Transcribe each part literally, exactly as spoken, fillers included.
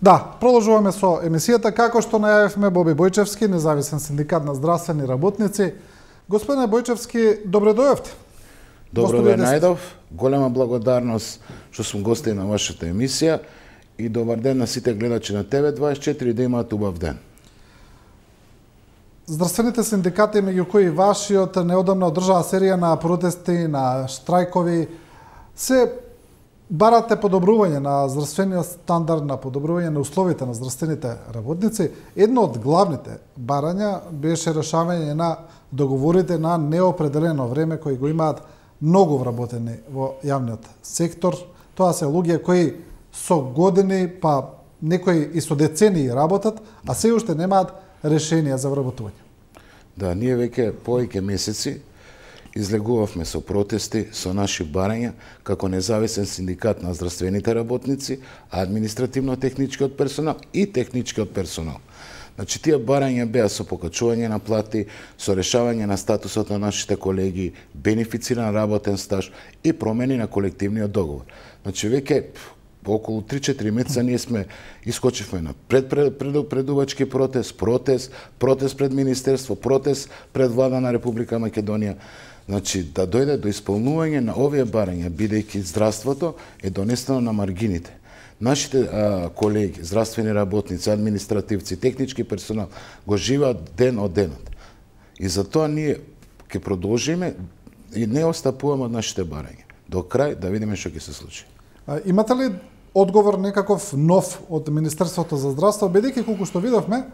Да, продолжуваме со емисијата. Како што најавивме, Боби Бојчевски, независен синдикат на здравствени работници. Господине Бојчевски, добре дојавте. Добро ве најдов. Голема благодарност што сум гостин на вашата емисија и добар ден на сите гледачи на Т В дваесет и четири, да имаат убав ден. Здравствените синдикати, меѓу кои вашиот, неодамна одржаа серија на протести, на штрајкови, се барате подобрување на здравствениот стандард, на подобрување на условите на здравствените работници. Едно од главните барања беше решавање на договорите на неопределено време кои го имаат многу вработени во јавниот сектор. Тоа се луѓе кои со години, па некои и со децении работат, а се уште немаат решение за вработување. Да, ние веќе повеќе месеци излегувавме со протести, со наши барања, како независен синдикат на здравствените работници, административно-техничкиот персонал и техничкиот персонал. Значи, тие барања беа со покачување на плати, со решавање на статусот на нашите колеги, бенефициран работен стаж и промени на колективниот договор. Значи, веќе околу три-четири месеца ние сме искочивме на пред, пред, пред, предувачки протест, протест, протест пред Министерство, протест пред Влада на Република Македонија. Значи, да дојде до исполнување на овие барања, бидејќи здравството е донесено на маргините. Нашите а, колеги, здравствени работници, административци, технички персонал го живеат ден од денот. И затоа ние ќе продолжиме и не остапуваме од нашите барања. До крај да видиме што ќе се случи. А, имате ли одговор некаков нов од Министерството за здравство, бидејќи колку што видовме,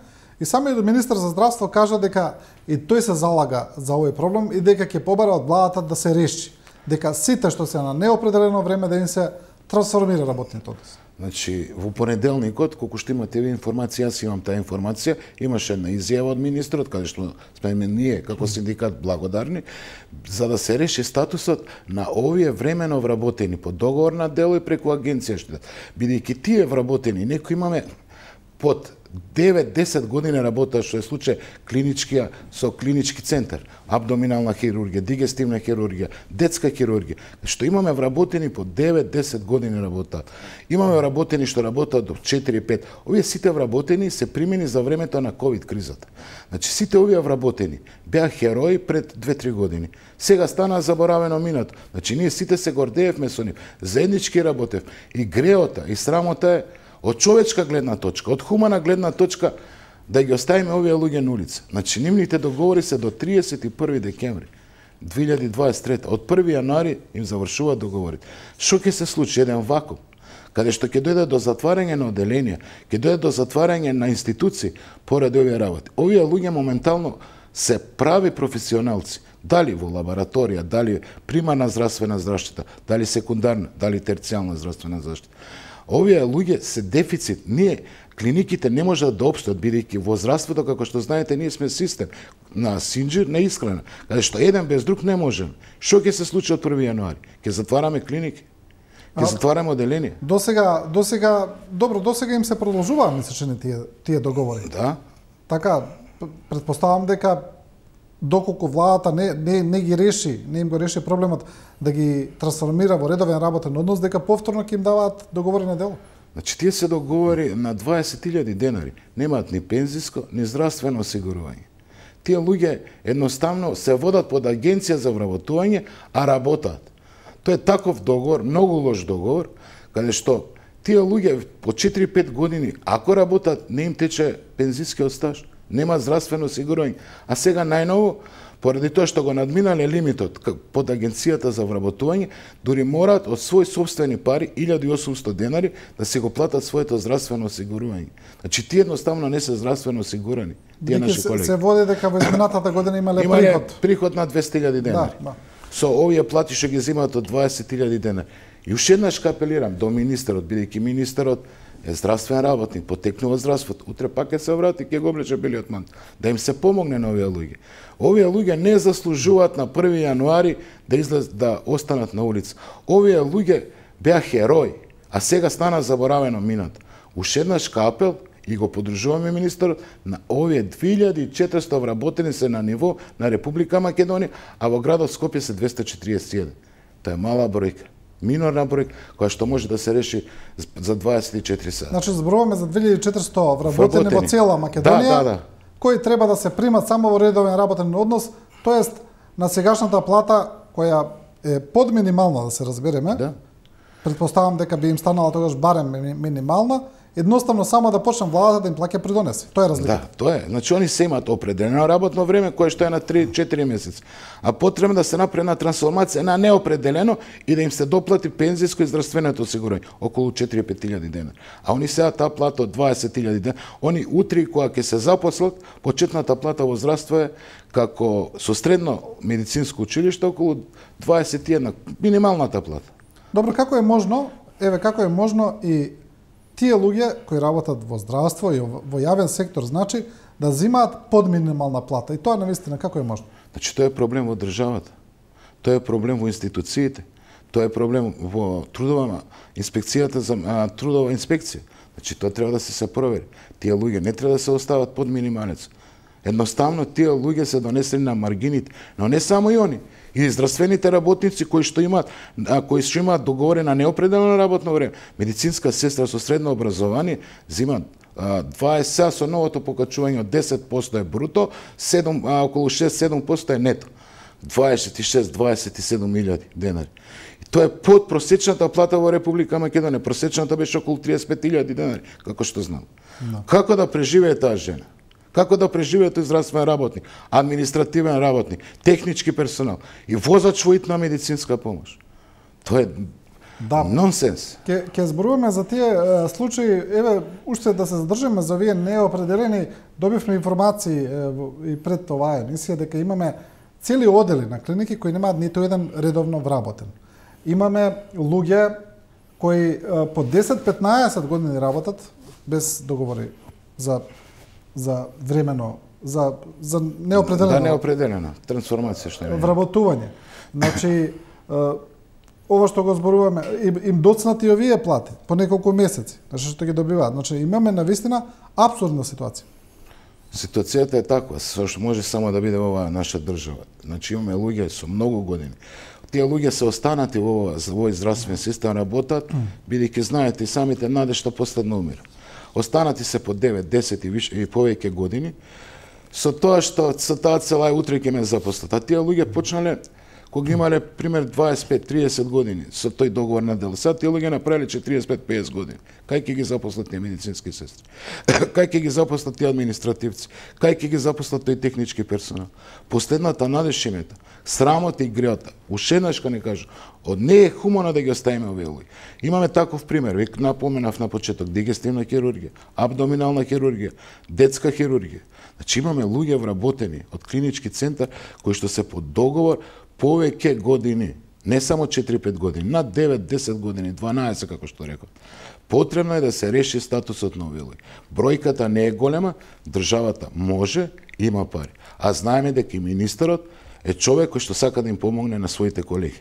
и самиот министер за здравство кажа дека и тој се залага за овој проблем и дека ќе побара од владата да се реши, дека сите што се на неопределено време да им се трансформира работниот однос. Значи, во понеделникот, колку што имате ви информација, јас имам таа информација, имаше една изјава од министрот, каде што сме ние како синдикат благодарни, за да се реши статусот на овие времено вработени по договор на дело и преку агенција што бидејќи тие вработени, некои имаме под девет-десет години работа, што е случај клиничкија со клинички центар, абдоминална хирургија, дигестивна хирургија, детска хирургија, што имаме вработени по девет-десет години работа. Имаме вработени што работат до четири-пет. Овие сите вработени се примени за времето на ковид кризата. Значи сите овие вработени беа херои пред две-три години. Сега стана заборавено минато. Значи ние сите се гордеевме со нив, заеднички работев и греота и срамота е од човечка гледна точка, од хумана гледна точка, да ги оставиме овие луѓе на улица. Значи, нивните договори се до триесет и први декември две илјади дваесет и трета. Од први јануари им завршуваат договорите. Што ќе се случи? Еден вакуум, каде што ќе дојде до затварање на оделенија, ќе дојде до затварање на институции поради овие работи. Овие луѓе моментално се прави професионалци, дали во лабораторија, дали примарна здравствена заштита, дали секундарна, дали терцијална здравствена заштита. Овие луѓе се дефицит. Ние, клиниките не можат да опстоат, бидејќи во здравството, како што знаете, ние сме систем на синџир, на исхрана, каде што еден без друг не можем. Што ќе се случи од први јануари? Ќе затвараме клиники? Ќе затвараме оделенија? До сега, до сега, добро, до сега им се продолжуваа, мислечени тие, тие договори. Да. Така, предпоставам дека доколку владата не, не, не ги реши, не им го реши проблемот да ги трансформира во редовен работен однос, дека повторно ќе им даваат договори на дело. Значи, тие се договори на дваесет илјади денари. Немаат ни пензиско, ни здравствено осигурување. Тие луѓе едноставно се водат под агенција за вработување, а работат. Тоа е таков договор, многу лош договор, каде што тие луѓе по четири-пет години, ако работат, не им тече пензискиот стаж, нема здравствено осигурување. А сега најново, поради тоа што го надминале лимитот под агенцијата за вработување, дури мораат од своји собствени пари, илјада и осумсто денари, да се го платат своето здравствено осигурување. Значи, тие едноставно не се здравствено осигурани. Тие наши се, колеги. Се води дека во изминатата година имале имале приход. приход на двесте илјади денари. Да, да. Со овие плати што ги земаат од дваесет илјади денари. И уште еднаш апелирам до министерот, бидејќи министерот е здравствен работник, потекнува здравството, утре пак ќе се врати, ќе го облече белиот мантил, да им се помогне на овие луѓе. Овие луѓе не заслужуваат на први јануари да излез да останат на улица. Овие луѓе беа херои, а сега стана заборавено минато. Уште еднаш апел и го подржуваме министерот на овие две илјади и четиристо вработени се на ниво на Република Македонија, а во градот Скопје се двесте четириесет и еден. Тоа е мала бројка. минорна бројка која што може да се реши за дваесет и четири сата. Значи зборуваме за две илјади и четиристото вработени во цела Македонија, да, да, да. кои треба да се примат само во редовен работен однос, тоест на сегашната плата која е под минимална, да се разбереме. Да. Предпоставам дека би им станала тогаш барем минимална, едноставно само да почнем владата да им плаќа придонеси. Тоа е разлика. Да, тоа е. Значи они се имаат определено работно време кое што е на три-четири месеци. А потребно да се направи една трансформација на неопределено и да им се доплати пензиско и здравственото осигурање, околу четири-пет илјади денари. А они сега таа плата од дваесет илјади денари, они утре кога ќе се запослат, почетната плата во здравство е како со средно медицинско училиште околу дваесет и една, минималната плата. Добро, како е можно, еве како е можно и тие луѓе кои работат во здравство и во јавен сектор, значи да земаат под минимална плата, и тоа навистина како е можно? Значи тоа е проблем во државата. Тоа е проблем во институциите. Тоа е проблем во трудова инспекцијата за а, трудова инспекција. Значи тоа треба да се се провери. Тие луѓе не треба да се остават под минималец. Едноставно тие луѓе се донесени на маргините, но не само и они. И здравствените работници кои што имаат, а, кои што имаат договорено неопределено работно време. Медицинска сестра со средно образование зема дваесет, сега со новото покачување од десет проценти е бруто, седум, а, околу шест-седум проценти е нето. дваесет и шест до дваесет и седум илјади денари. И тоа е под просечната плата во Република Македонија. Просечната беше околу триесет и пет илјади денари, како што знам. No. Како да преживее таа жена? Како да преживее тој здравствен работник, административен работник, технички персонал и возач во итна медицинска помош? Тоа е да, нонсенс. Ке, ке зборуваме за тие е, случаи, еве, уште да се задржиме за вие неопределени, добивме информации е, и пред оваа емисија дека имаме цели одели на клиники кои немаат ниту еден редовно вработен. Имаме луѓе кои е, по десет-петнаесет години работат без договори за за времено, за за неопределено. Да, неопределено трансформација што е. Вработување. Значи ова што го зборуваме, им, им доцнати овие плати по неколку месеци, значи што ги добиваат. Значи имаме навистина апсурдна ситуација. Ситуацијата е таква, со што може само да биде во оваа наша држава. Значи имаме луѓе со многу години. Тие луѓе се останати во овој здравствен систем, работат, бидејќи знаете и самите наде што последно умира. Останати се по девет, десет и више и повеќе години, со тоа што со таа цела утре ќе ме запослат. А тие луѓе почнале кога имале пример дваесет и пет триесет години со тој договор на дел. Сега тие луѓе направиле четириесет и пет песет години. Кај ќе ги запослат тие медицински сестри? Кај ќе ги запослат тие административци? Кај ќе ги запослат тој технички персонал? Последната надеж им е срамота и греота. Уште еднаш ка не кажу, од не е хумано да ги оставиме овие луѓе. Имаме таков пример, веќе напоменав на почеток, дигестивна хирургија, абдоминална хирургија, детска хирургија. Значи имаме луѓе вработени од клинички центар кои што се по договор повеќе години, не само четири-пет години, над девет-десет години, дванаесет како што реков. Потребно е да се реши статусот на овие луѓе. Бројката не е голема, државата може, има пари. А знаеме дека и министерот е човек кој што сака да им помогне на своите колеги.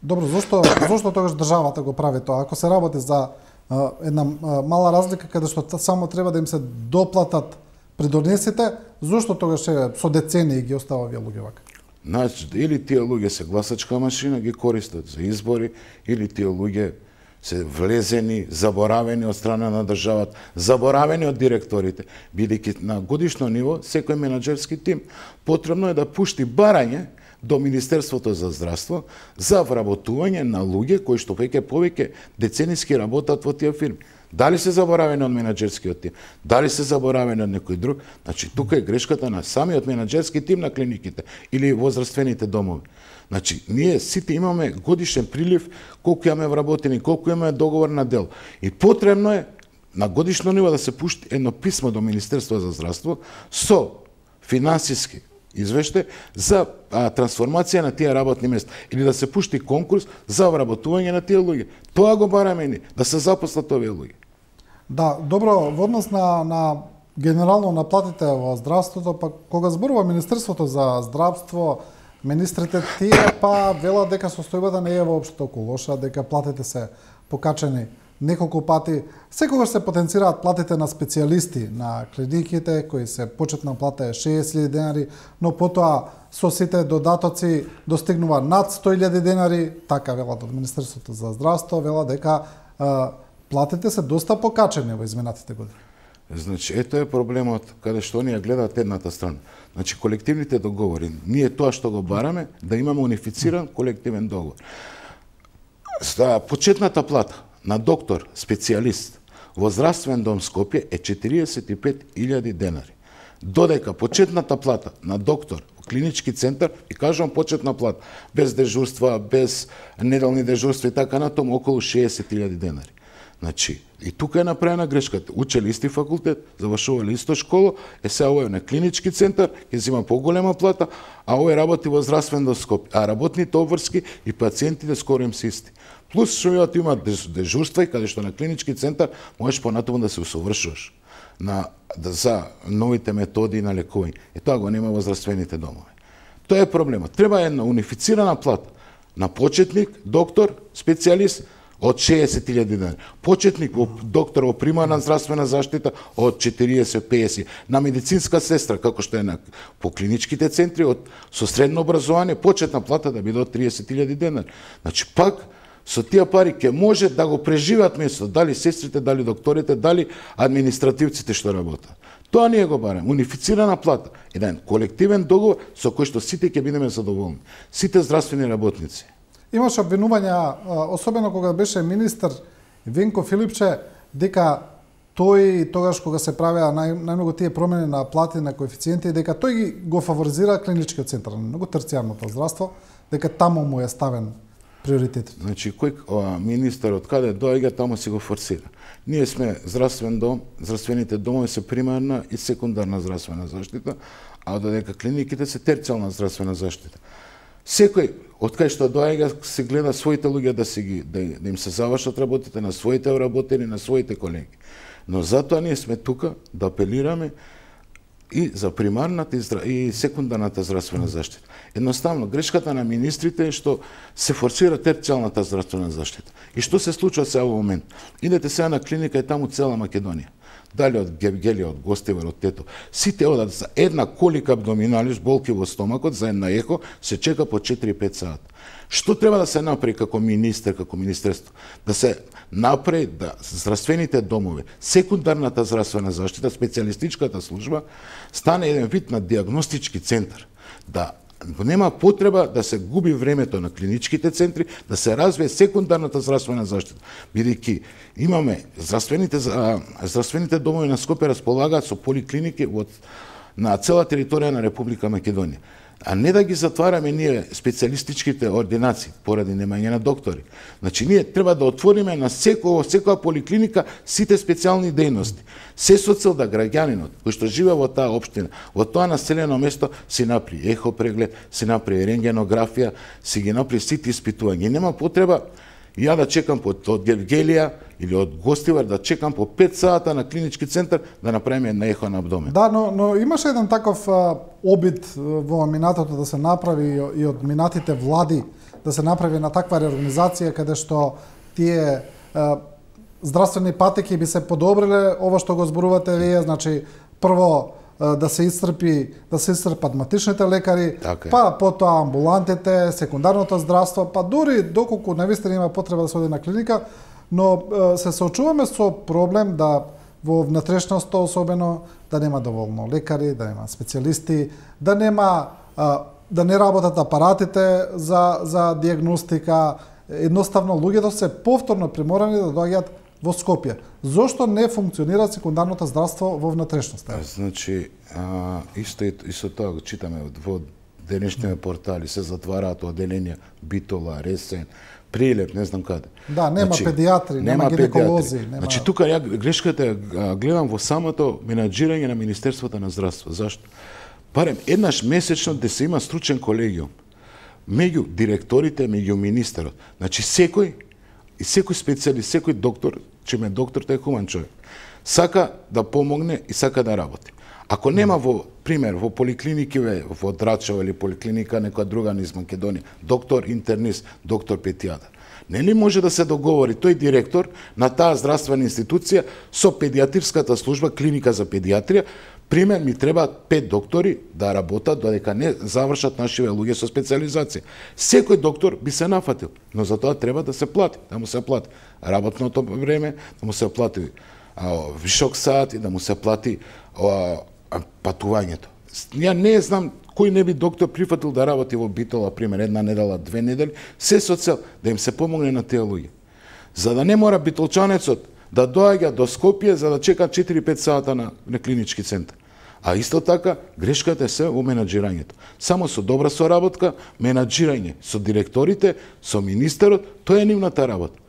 Добро, зошто зошто тогаш државата го прави тоа? Ако се работи за а, една а, мала разлика каде што само треба да им се доплатат придонесите, зошто тогаш со децении ги остава овие луѓе вака? Значи, или тие луѓе се гласачка машина, ги користат за избори, или тие луѓе се влезени, заборавени од страна на државата, заборавени од директорите, бидејќи на годишно ниво секој менаџерски тим потребно е да пушти барање до Министерството за здравство за вработување на луѓе кои што веќе повеќе децениски работат во тие фирми. Дали се заборавени од менаџерскиот тим, дали се заборавени од некој друг, значи тука е грешката на самиот менаџерски тим на клиниките или возрастveните домови. Значи, ние сите имаме годишен прилив, колку имаме вработени, колку имаме договор на дел. И потребно е на годишно ниво да се пушти едно писмо до Министерство за здравство со финансиски извештај за а, трансформација на тие работни места или да се пушти конкурс за вработување на тие луѓе. Тоа го бараме ни, да се запослат овие луѓе. Да, добро, во однос на, на генерално на платите во здравството, па кога зборува Министерството за здравство, министрите тие па велат дека состојбата не е воопшто толку лоша, дека платите се покачени неколку пати. Секогаш се потенцираат платите на специјалисти на клиниките, кои се почетна плата е шеесет илјади денари, но потоа со сите додатоци достигнува над сто илјади денари, така велат од Министерството за здравство, вела дека а, платите се доста покачени во изминатите години. Значи, ето е проблемот каде што оние гледаат едната страна. Значи, колективните договори, ние тоа што го бараме, да имаме унифициран колективен договор. За почетната плата на доктор, специјалист во здравствен дом Скопје е четириесет и пет илјади денари. Додека почетната плата на доктор во клинички центар, и кажам почетна плата, без дежурства, без неделни дежурства и така натаму, околу шеесет илјади денари. Значи, и тука е направена грешката. Учели исти факултет, завршували исто школа, е сега овој на клинички центар, ќе зима поголема плата, а овој работи во здравствен дом Скопје. А работните обврски и пациентите скоро им се исти. Плюс што имаат дежурства и каде што на клинички центар можеш понатаму да се усовршуваш на да, за новите методи на лекување. И тоа го нема во здравствените домови. Тоа е проблемот. Треба една унифицирана плата на почетник, доктор, специјалист од шеесет илјади денари. Почетник во доктор во примарна здравствена заштита од четириесет до пеесет. На медицинска сестра, како што е на по клиничките центри, од со средно образование, почетна плата да биде од триесет илјади денари. Значи пак со тие пари ќе може да го преживеат место, дали сестрите, дали докторите, дали административците што работат. Тоа ние го бараме, унифицирана плата, еден колективен договор со кој што сите ќе бидеме задоволни. Сите здравствени работници. Имаше обвинувања, особено кога беше министер Венко Филипче, дека тој тогаш кога се правеа нај, најмногу тие промени на плати на коефициенти, дека тој ги го фаворизира клиничкиот центар, многу терцијарното здравство, дека таму му е ставен приоритетот. Значи, кој о, министер од каде доаѓа, таму се го форсира. Ние сме здравствен дом, здравствените домови се примарна и секундарна здравствена заштита, а додека клиниките се терцијална здравствена заштита. Секој од кај што доаѓа се гледа своите луѓе да се ги да, да им се завршат работите на своите работени, на своите колеги. Но затоа ние сме тука да апелираме и за примарната и, здра... и секундарната здравствена заштита. Едноставно, грешката на министрите е што се форсира терцијалната здравствена заштита. И што се случува сега во момент? Идете сега на клиника и таму цела Македонија. Дали од Гевгелија, од Гостивар, од Тето. Сите одат за една колика абдоминалис, болки во стомакот, за една ехо, се чека по четири до пет сата. Што треба да се направи како министер, како министерство? Да се направи да здравствените домови, секундарната здравствена заштита, специјалистичката служба, стане еден вид на диагностички центар. Да нема потреба да се губи времето на клиничките центри, да се развие секундарната здравствена заштита. Бидејќи имаме здравствените, здравствените домови на Скопје располагаат со поликлиники од, на цела територија на Република Македонија. А не да ги затвараме ние специјалистичките ординации поради немање на доктори. Значи ние треба да отвориме на секоја секоја поликлиника сите специјални дејности. Се со цел да граѓанинот кој што живее во таа општина, во тоа населено место си направи ехо преглед, си направи рентгенографија, си ги направи сите испитувања. Нема потреба ја да чекам од Гевгелија или од Гостивар да чекам по пет сата на клинички центар да направиме една ехо на абдомен. Да, но, но имаше еден таков а, обид во минатото да се направи и од минатите влади да се направи на таква реорганизација каде што тие а, здравствени патеки би се подобриле, ова што го зборувате вие, значи прво да се исцрпи, да се исцрпат матичните лекари, така, па потоа амбулантите, секундарното здравство, па дури доколку навистина има потреба да се оди на клиника, но се соочуваме со проблем да во внатрешноста особено да нема доволно лекари, да нема специјалисти, да нема да не работат апаратите за за диагностика, едноставно луѓето се повторно приморани да доаѓаат во Скопје. Зошто не функционира секундарното здравство во внатрешноста? Значи, а, исто, исто тоа го читаме во денешните портали, се затвараат оделенија Битола, Ресен, Прилеп, не знам каде. Да, нема значи, педиатри, нема, нема гинеколози. Нема... Значи, тука ја грешката гледам во самото менаџирање на Министерството на здравство. Зашто? Барем еднаш месечно да се има стручен колегиум меѓу директорите, меѓу министерот. Значи, секој и секој специјалист, секој доктор, чиме доктор тој е хуман човек, сака да помогне и сака да работи. Ако нема во пример во поликлиники во Драчево или поликлиника некоја друга низ Македонија, доктор интернист, доктор педијатар, Нели може да се договори тој директор на таа здравствена институција со педиатрската служба, клиника за педиатрија, пример ми треба пет доктори да работат додека не завршат нашиве луѓе со специализација. Секој доктор би се нафатил, но за тоа треба да се плати, да му се плати работното време, да му се плати а, вишок сати, да му се плати а, а, патувањето. Ја не знам кој не би доктор прифатил да работи во Битола, пример, една недела, две недели, се со цел да им се помогне на тие луѓе. За да не мора битолчанецот да доаѓа до Скопје за да чека четири-пет сата на, на клинички центар. А исто така, грешката е се во менаџирањето. Само со добра соработка, менаџирање со директорите, со министерот, тоа е нивната работа.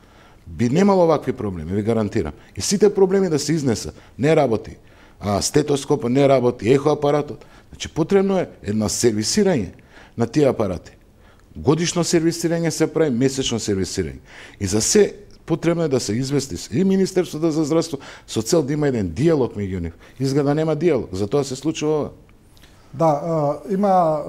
Би немало вакви проблеми, ви гарантирам. И сите проблеми да се изнесат. Не работи а, стетоскопот, не работи ехоапаратот. Значи, потребно е едно сервисирање на тие апарати. Годишно сервисирање се прави, месечно сервисирање. И за се потребно е да се извести и Министерството за здравство со цел да има еден диалог меѓу нив. Изгледа нема диалог, затоа се случува ова. Да, а, има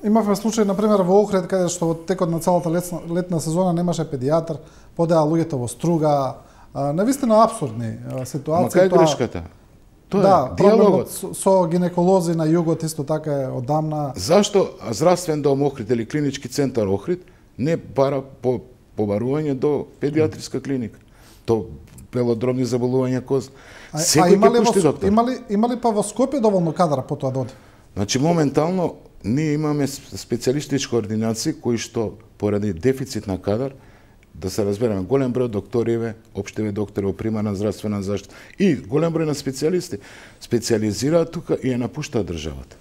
имавме случај на пример во Охрид каде што во текот на целата летна, летна сезона немаше педијатар, подеа луѓето во струга, а, навистина апсурдни а, ситуации. Ма кај е грешката? Тоа да, е диалогот со, со гинеколози на југот исто така е одамна. Зашто здравствен дом Охрид или клинички центар Охрид не бара по побарување до педиатриска клиника, до белодробни заболувања коз. Секој ќе пушти доктор. Имали имали па во Скопје доволно кадар по тоа доди? Значи моментално ние имаме специјалистички ординации кои што поради дефицит на кадар, да се разбереме, голем број докториве, општеви доктори во примарна здравствена заштита и голем број на специјалисти специјализираат тука и ја напуштаат државата.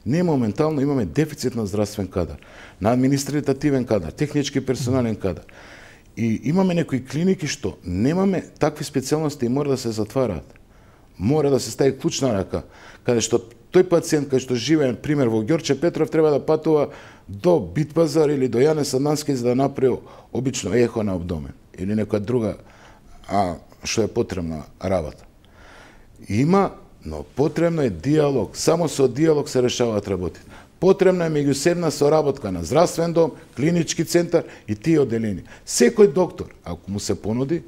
Ние моментално имаме дефицит на здравствен кадар, на административен кадар, технички персонален кадар. И имаме некои клиники што немаме такви специјалности и мора да се затвараат. Мора да се стави клучна рака, каде што тој пациент кај што живее, пример во Ѓорче Петров, треба да патува до Битпазар или до Јане Садански за да направи обично ехо на абдомен или некоја друга а што е потребна работа. Има, но потребно е диалог. Само со диалог се решаваат работи. Потребна е меѓусебна соработка на здравствен дом, клинички центар и тие одделени. Секој доктор, ако му се понуди,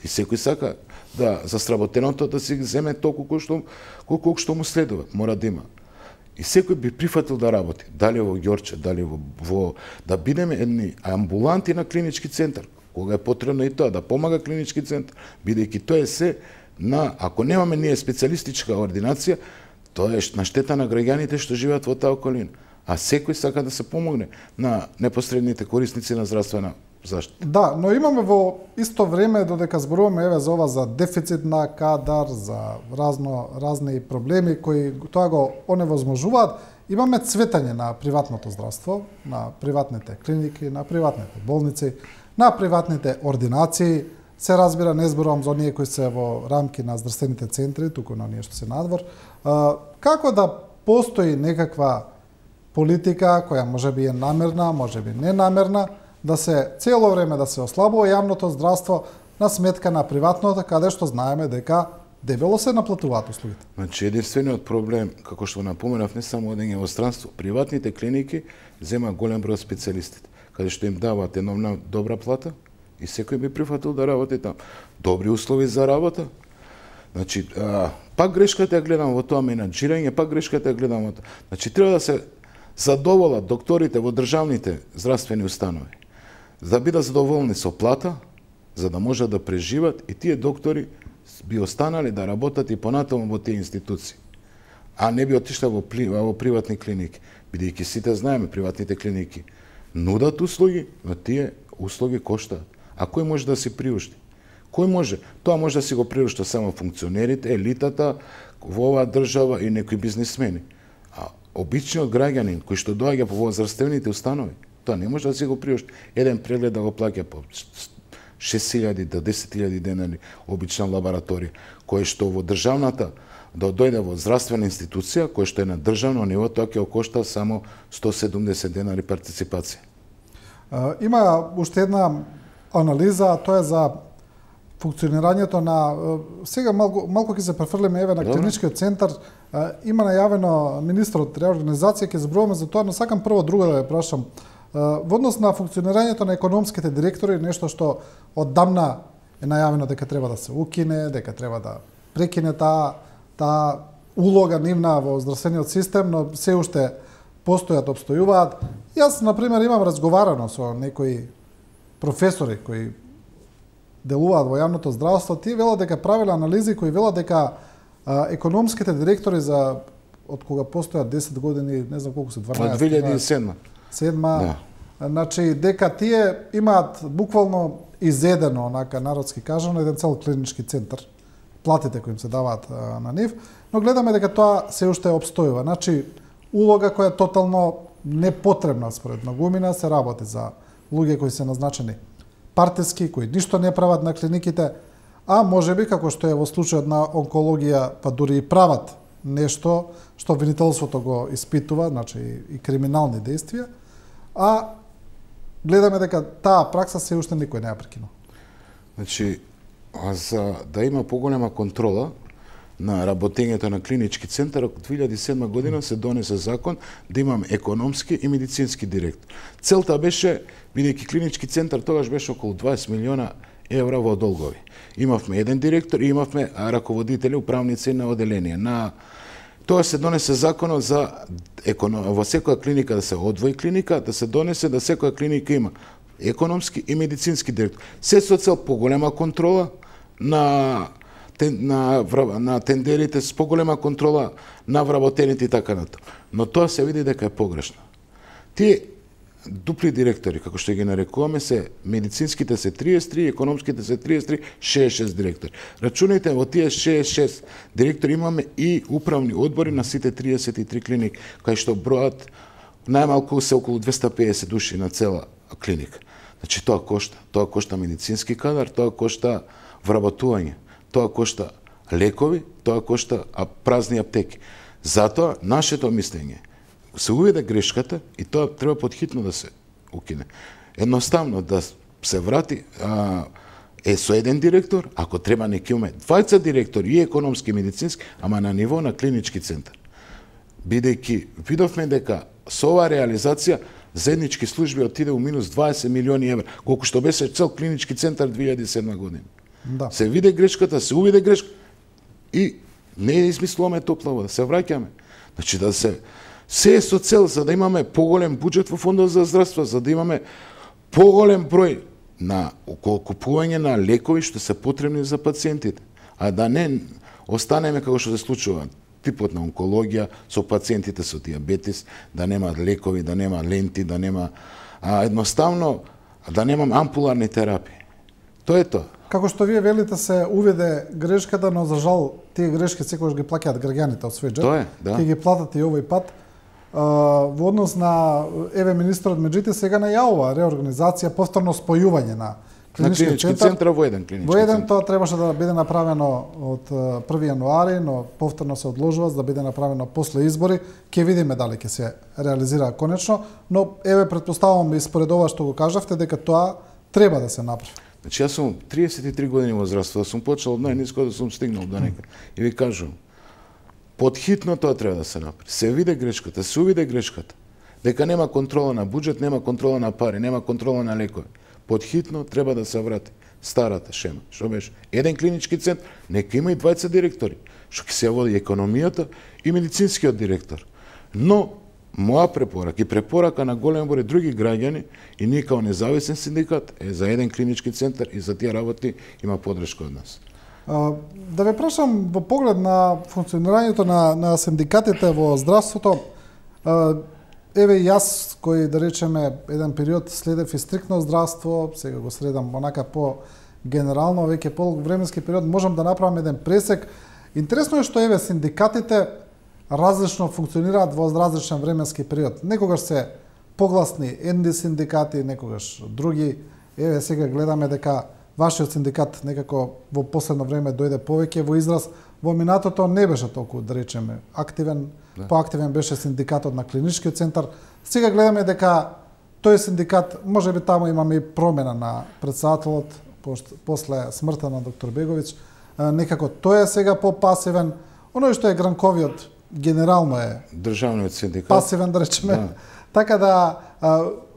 и секој сака да за сработеното да си земе толку колку што колку што му следува, мора да има. И секој би прифатил да работи, дали во Ѓорче, дали во, во да бидеме едни амбуланти на клинички центар, кога е потребно и тоа да помага клинички центар, бидејќи тоа е се на ако немаме ние специјалистичка ординација, тоа е на штета на граѓаните што живеат во таа околина. А секој сака да се помогне на непосредните корисници на здравствена заштита. Да, но имаме во исто време додека зборуваме еве за ова за дефицит на кадар, за разно разни проблеми кои тоа го оневозможуваат, имаме цветање на приватното здравство, на приватните клиники, на приватните болници, на приватните ординации. Се разбира, не зборувам за оние кои се во рамки на здравствените центри, туку на оние што се надвор. Како да постои некаква политика која можеби е намерна, можеби ненамерна, да се цело време да се ослабува јавното здравство на сметка на приватното, каде што знаеме дека дебело се наплатуваат услугите. Значи единствениот проблем, како што напоменав, не само одење во странство, приватните клиники зема голем број специјалистите, каде што им даваат една добра плата и секој би прифатил да работи таму. Добри услови за работа. Значи, а, пак грешката ја гледам во тоа менаџирање, пак грешката ја гледам во тоа. Значи треба да се задоволат докторите во државните здравствени установи, за да бидат задоволни со плата, за да можат да преживат и тие доктори би останали да работат и понатаму во тие институции, а не би отишла во, во приватни клиники, бидејќи сите знаеме приватните клиники нудат услуги, но тие услуги коштаат. А кој може да си приушти? Кој може? Тоа може да си го приушта само функционерите, елитата во оваа држава и некои бизнисмени. А обичниот граѓанин кој што доаѓа во здравствените установи, тоа не може да си го приушти. Еден преглед да го плаќа по шест илјади до десет илјади денари обична лабораторија, кој што во државната да дојде во здравствена институција, кој што е на државно ниво, тоа ќе кошта само сто седумдесет денари партиципација. Има уште една анализа, тоа е за функционирањето на сега малку малку ќе се префрлиме еве на клиничкиот центар. Има најавено министерот реорганизација, ќе зборуваме за тоа, но сакам прво друго да ве прашам. Во однос на функционирањето на економските директори, нешто што оддамна е најавено дека треба да се укине, дека треба да прекине таа таа улога нивна во здравствениот систем, но се уште постојат, обстојуваат. Јас, например, имам разговарано со некои професори кои делуваат во јавното здравство, тие велат дека правеле анализи кои велат дека а, економските директори за од кога постојат десет години, не знам колку се, дванаесет. Од две илјади и седма. Седма. Да. Значи дека тие имаат буквално изедено, онака народски кажано, еден цел клинички центар. Платите кои им се даваат а, на нив, но гледаме дека тоа се уште обстојува. Значи улога која е тотално непотребна според многумина се работи за луѓе кои се назначени партиски, кои ништо не прават на клиниките, а можеби, како што е во случајот на онкологија, па дури и прават нешто што обвинителството го испитува, значи и криминални действија, а гледаме дека таа пракса се уште никој не ја прекинува. Значи, а за да има поголема контрола на работењето на клинички центар, од две илјади и седма година се донесе закон да имаме економски и медицински директор. Целта беше, бидејќи клинички центар тогаш беше околу дваесет милиона евра во долгови. Имавме еден директор и имавме раководители, управници на оделение. На тоа се донесе законот за економ... во секоја клиника да се одвои клиника, да се донесе да секоја клиника има економски и медицински директор. Се со цел поголема контрола на на на тендерите, с поголема контрола на вработените и така натаму. Но тоа се види дека е погрешно. Тие дупли директори, како што ги нарекуваме, се медицинските се триесет и три, економските се триесет и три, шеесет и шест директори. Рачунајте, во тие шеесет и шест директори имаме и управни одбори на сите триесет и три клиники, кај што бројат најмалку се околу двесте и педесет души на цела клиника. Значи тоа кошта, тоа кошта медицински кадар, тоа кошта вработување, тоа кошта лекови, тоа кошта празни аптеки. Затоа нашето мислење се уведе грешката и тоа треба подхитно да се укине. Едноставно да се врати а, е со еден директор, ако треба неки уме двајца директори и економски и медицински, ама на ниво на клинички центар. Бидејќи видовме дека со оваа реализација заеднички служби отиде у минус дваесет милиони евра, колку што беше цел клинички центар две илјади и седма година. Да. Се виде грешката, се увиде грешка и не измислуваме топла вода, се враќаме. Значи да се се е со цел за да имаме поголем буџет во фондот за здравство, за да имаме поголем број на купување на лекови што се потребни за пациентите, а да не останеме како што се случува типот на онкологија со пациентите со диабетис, да нема лекови, да нема ленти, да нема а, едноставно да немам ампуларни терапии. Тоа е тоа. Како што вие велите, се уведе грешката, но за жал тие грешки секогаш ги плаќаат граѓаните од свој джеб. Тоа е, да. Ќе ги платат и овој пат. Uh, во однос на еве министерот Меджити сега најавува реорганизација, повторно спојување на клинички, на клинички центар. центар во еден клинички Во еден центар. тоа требаше да биде направено од први јануари, но повторно се одложува за да биде направено после избори. Ќе видиме дали ќе се реализира конечно, но еве претпоставувам и според ова што го кажавте дека тоа треба да се направи. Значи јас сум триесет и три години во здравство, сум почел од најниско да сум стигнал до некаде. И ви кажувам, подхитно тоа треба да се направи. Се виде грешката, се увиде грешката. Дека нема контрола на буџет, нема контрола на пари, нема контрола на лекови. Подхитно треба да се врати старата шема. Што беше? Еден клинички центар, нека има и двајца директори, што ќе се води економијата и медицинскиот директор. Но моја препорака и препорака на голем број други граѓани и ние као независен синдикат е за еден клинички центар и за тие работи има подршка од нас. Да ве прашам во поглед на функционирањето на, на синдикатите во здравството, еве јас кој да речеме еден период следев и стриктно здравство, сега го следам онака по генерално, веќе по временски период можам да направам еден пресек. Интересно е што еве синдикатите различно функционираат во различен временски период. Некогаш се погласни едни синдикати, некогаш други. Еве сега гледаме дека вашиот синдикат некако во последно време дојде повеќе во израз. Во минатото не беше толку, да речеме, активен, да. Поактивен беше синдикатот на клиничкиот центар. Сега гледаме дека тој синдикат, можеби таму имаме и промена на председателот после смртта на доктор Беговиќ, некако тој е сега попасивен. Оној што е Гранковиот генерално е државниот синдикат пасивен, да речеме. Да. Така да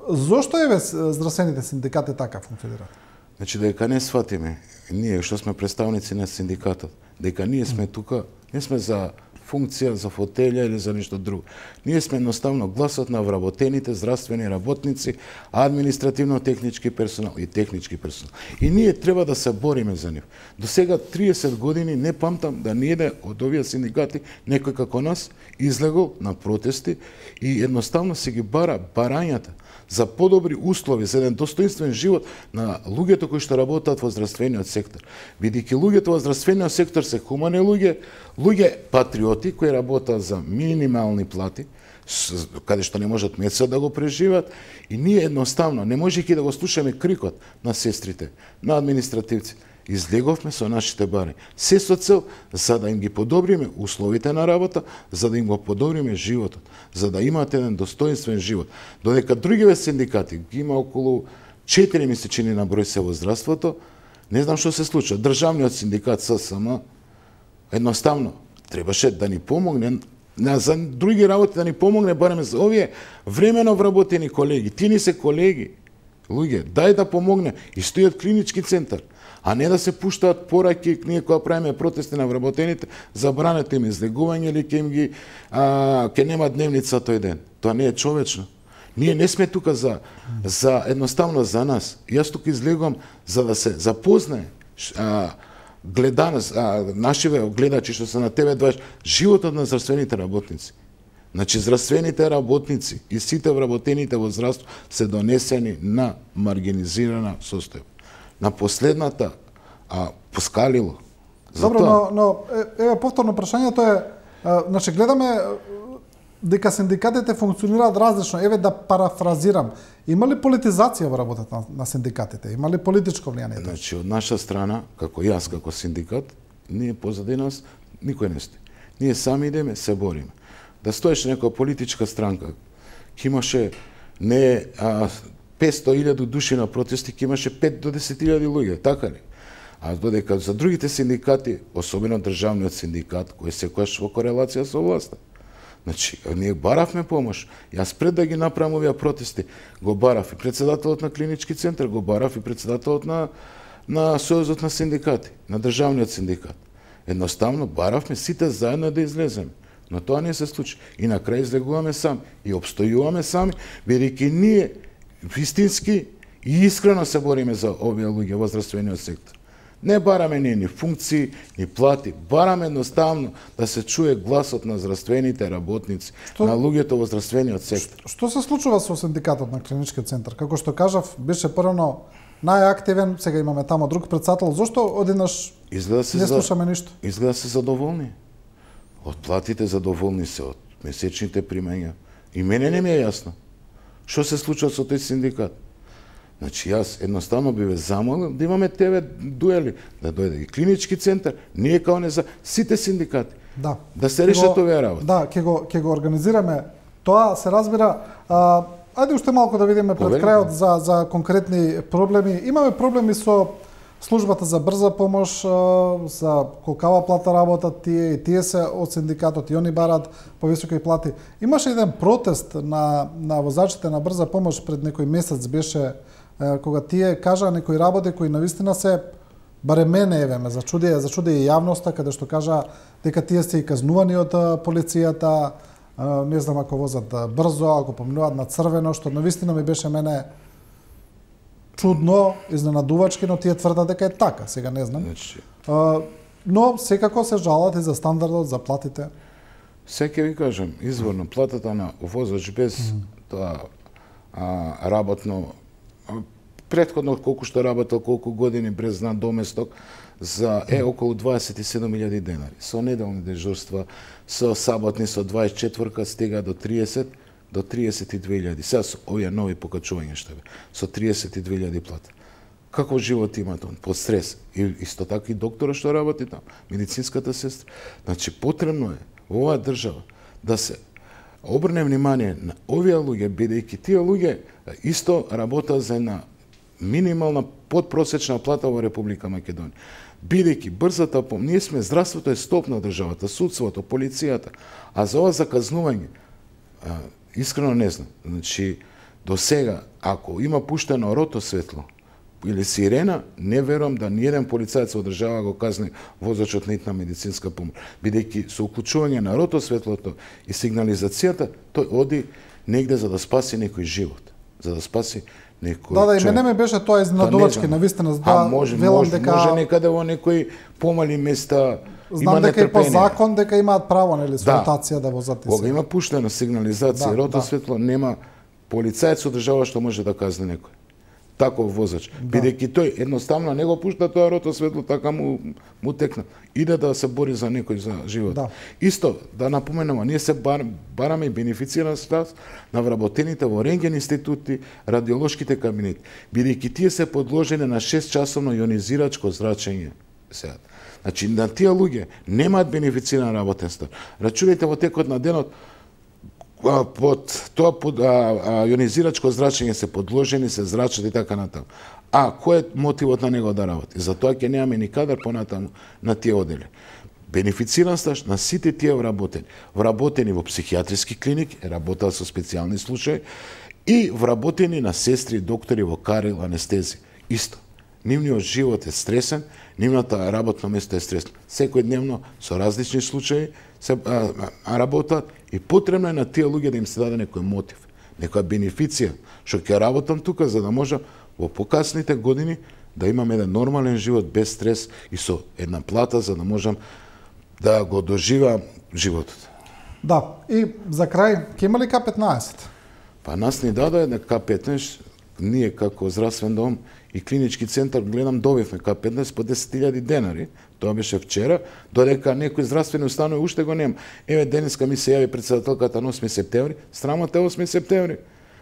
зошто еве здравствените синдикати така функционираат? Значи, дека не сватиме, ние што сме представници на синдикатот, дека ние сме тука, не сме за функција, за фотелја или за нешто друго. Ние сме едноставно гласот на вработените здравствени работници, административно-технички персонал и технички персонал. И ние треба да се бориме за нив. До сега триесет години не памтам да ниеде од овие синдикати некој како нас излегол на протести и едноставно се ги бара барањата за подобри услови, за еден достоинствен живот на луѓето кои што работат во здравствениот сектор. Бидејќи луѓето во здравствениот сектор се хумани луѓе, луѓе патриоти кои работат за минимални плати, каде што не можат месец да го преживат, и ние едноставно не можејќи да го слушаме крикот на сестрите, на административци, излеговме со нашите бари. Се со цел за да им ги подобриме условите на работа, за да им го подобриме животот, за да имаат еден достоинствен живот. Додека другиве синдикати ги има околу четири месечини на број се во здравството, не знам што се случува. Државниот синдикат ССМ едноставно требаше да ни помогне на за други работи, да ни помогне барем за овие времено вработени колеги. Ти ни се колеги, луѓе, дај да помогне и стојат клинички центар, а не да се пуштаат пораки ние кога правиме протести на вработените, забранете им излегување или ќе им ги а, ќе нема дневница тој ден. Тоа не е човечно. Ние не сме тука за за едноставно за нас. Јас тука излегувам за да се запознае а, гледаност, а, нашиве гледачи што се на тебе двајаш животот на здравствените работници. Значи, здравствените работници и сите вработените во здравство се донесени на маргинизирана состојба. На последната а, поскалило. Добро, но, но еве повторно прашањето е, а, значи гледаме дека синдикатите функционираат различно. Еве да парафразирам, има ли политизација во работата на, на синдикатите? Има ли политичко влијание? Значи, од наша страна, како јас, како синдикат, ние позади нас никој не стои. Ние сами идеме, се бориме. Да стоеше некоја политичка странка, ќе имаше не а, петстотини илјади души на протести, ќе имаше пет до десет илјади луѓе, така ли? А додека за другите синдикати, особено државниот синдикат, кој секогаш во корелација со власта. Значи, ние баравме помош. Јас пред да ги направам овие протести, го барав и председателот на клинички центар, го барав и председателот на на Сојузот на синдикати, на државниот синдикат. Едноставно баравме сите заедно да излеземе. Но тоа не се случи. И на крај излегуваме сами и обстојуваме сами, бидејќи ние вистински и искрено се бориме за овие луѓе во здравствениот сектор. Не бараме ние ни функции, ни плати, бараме едноставно да се чуе гласот на здравствените работници, што, на луѓето во здравствениот сектор. Што се случува со синдикатот на клиничкиот центар? Како што кажав, беше првно најактивен, сега имаме тамо друг председател. Зошто одеднаш не слушаме за... ништо? Изгледа се задоволни. Од платите задоволни се, од месечните примања. И мене не ми е јасно. Што се случува со тој синдикат? Значи, јас едноставно би ве замолил да имаме тебе дуели, да дојде и клинички центар, ние као не за сите синдикати. Да. Да се решат овие работи. Да, ќе го ќе го организираме. Тоа се разбира. А, ајде уште малку да видиме пред Поверим. крајот за за конкретни проблеми. Имаме проблеми со службата за брза помош, за колкава плата работат тие и тие се од синдикатот и они барат повисоки плати. Имаше еден протест на на возачите на брза помош пред некој месец, беше кога тие кажаа некои работи кои навистина се, барем мене еве ме зачуди, зачуди и јавноста, каде што кажа дека тие се и казнувани од полицијата, не знам ако возат брзо, ако поминуваат на црвено, што навистина ми беше мене чудно, изненадувачки, но тие тврдат дека е така, сега не знам. Значи, но секако се жалат и за стандардот, за платите. Се ќе ви кажам, изворно, платата на возач без mm. тоа а, работно, а, предходно колку што работел, колку години без надоместок, за е околу дваесет и седум илјади денари. Со неделни дежурства, со саботни, со дваесет и четвртка стига до триесет, до триесет и две илјади. Сега со овие нови покачувања што бе, со триесет и две илјади плата. Каков живот има тоа? Под стрес. И исто така и доктора што работи там, медицинската сестра. Значи, потребно е во оваа држава да се обрне внимание на овие луѓе, бидејќи тие луѓе исто работат за една минимална подпросечна плата во Република Македонија. Бидејќи брзата помош, ние сме здравството е стоп на државата, судството, полицијата, а за ова заказнување, а, искрено не знам. Значи, До сега, ако има пуштено рото светло или сирена, не верувам да ниеден полицаец од држава го казни возачот на итна медицинска помош. Бидејќи со уклучување на рото светлото и сигнализацијата, тој оди негде за да спаси некој живот, за да спаси некој Да, да, и човек. мене ме беше тоа изненадувачки, навистина, за А да може, велам може, дека може некаде во некои помали места знам има дека и по нетрпение. закон дека имаат право, нели, со Да. ротација да возат и Кога се. има пуштена сигнализација, Да, рото да. светло, нема полицаец од држава што може да казне некој. Таков возач. Бидејќи тој едноставно не го пушта тоа рото светло, така му, му текна. Иде да се бори за некој за живот. Да. Исто, да напоменеме, ние се бар, бараме и бенефициран статус на вработените во рентген институти, радиолошките кабинети. Бидејќи тие се подложени на шест часовно јонизирачко зрачење. Сега. Значи, на тие луѓе немаат бенефициран работен стаж. Рачунајте во текот на денот, а, под тоа под а, а, јонизирачко зрачење се подложени, се зрачат и така натаму. А кој е мотивот на него да работи? Затоа ќе немаме ни кадар понатаму на тие одели. Бенефициран стаж на сите тие вработени. Вработени во психијатриски клиники, работат со специјални случаи, и вработени на сестри, доктори во карел, анестези. Исто. Нивниот живот е стресен, нивната работно место е стресно. Секојдневно со различни случаи се а, а, работат и потребно е на тие луѓе да им се даде некој мотив, некоја бенефиција, што ќе работам тука за да можам во покасните години да имам еден нормален живот без стрес и со една плата за да можам да го доживам животот. Да, и за крај, ќе има ли К петнаесет? Па нас ни даде на К петнаесет, ние како здравствен дом и клинички центар гледам добивме К петнаесет по десет илјади денари. Тоа беше вчера, додека некои здравствени установи уште го нема. Еве денеска ми се јави претседателката на осми септември, страмата е осми септември.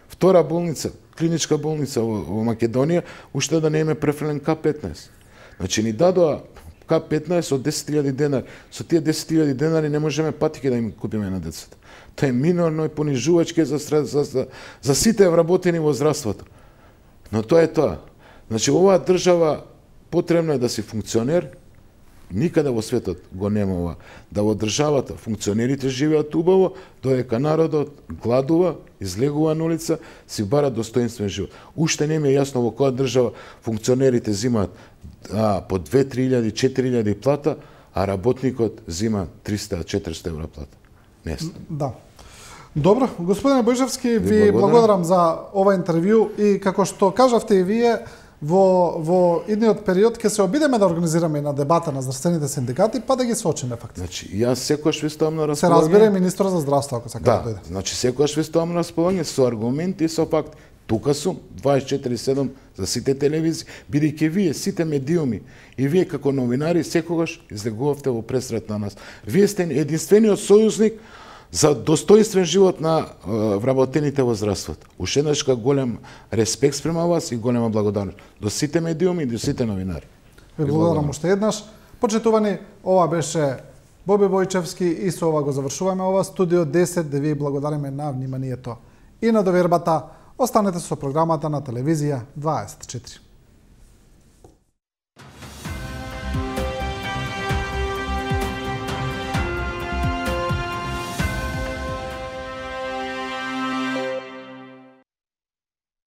Втора болница, клиничка болница во, во Македонија, уште да не име префрлен К петнаесет. Значи ни дадоа К петнаесет од десет илјади денари. Со тие десет илјади денари не можеме патики да им купиме на децата. Тоа е минорно и понижувачки за, за, за, за сите вработени во здравството. Но тоа е тоа. Значи, оваа држава потребно е да си функционер, никаде во светот го нема ова. Да во државата функционерите живеат убаво, додека народот гладува, излегува на улица, си бара достоинствен живот. Уште не ми е јасно во која држава функционерите зимаат а, по две-три илјади, четири илјади плата, а работникот зима триста-четиристо евра плата. Не знам. Да. Добро, господине Бојшевски, ви, ви благодарам за ова интервју и како што кажавте и вие, во во идниот период ќе се обидеме да организираме на дебата на здравствените синдикати, па да ги сочиме фактите. Значи, јас секогаш ви ставам на Се располагање. разбере министер за здравство ако сака да, Да, дојде. значи секогаш ви ставам на располагање со аргументи и со факти. Тука сум дваесет и четири седум за сите телевизии, бидејќи вие сите медиуми и вие како новинари секогаш излегувавте во пресрет на нас. Вие сте единствениот сојузник за достоинствен живот на е, вработените во здравството. Уште еднаш голем респект спрема вас и голема благодарност до сите медиуми и до сите новинари. Ви благодарам уште еднаш. Почитувани, ова беше Боби Бојчевски и со ова го завршуваме ова студио десет, да ви благодариме на вниманието и на довербата. Останете со програмата на телевизија дваесет и четири.